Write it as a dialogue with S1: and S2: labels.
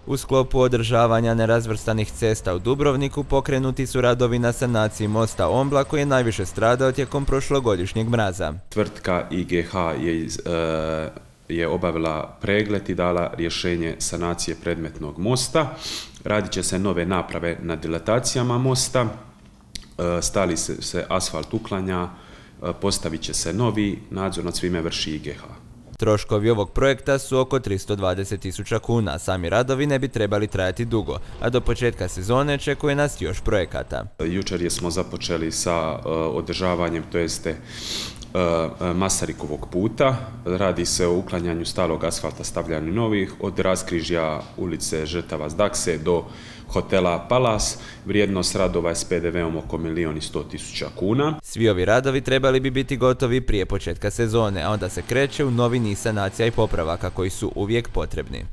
S1: U sklopu održavanja nerazvrstanih cesta u Dubrovniku pokrenuti su radovi na sanaciji mosta Ombla koji je najviše stradao tijekom prošlogodišnjeg mraza.
S2: Tvrtka IGH je obavila pregled i dala rješenje sanacije predmetnog mosta. Radit će se nove naprave na dilatacijama mosta, stali se asfalt uklanja, postavit će se novi, nadzor nad svime vrši IGH.
S1: Troškovi ovog projekta su oko 320.000 kuna, sami radovi ne bi trebali trajati dugo, a do početka sezone čekuje nas još projekata.
S2: Jučer smo započeli sa održavanjem, to jeste Masarikovog puta. Radi se o uklanjanju starog asfalta, stavljanju novih, od raskrižja ulice Žrtava Zdakse do hotela Palas. Vrijednost radova je s PDV-om oko 1.100.000 kuna.
S1: Svi ovi radovi trebali bi biti gotovi prije početka sezone, a onda se kreće u novi niz sanacija i popravaka koji su uvijek potrebni.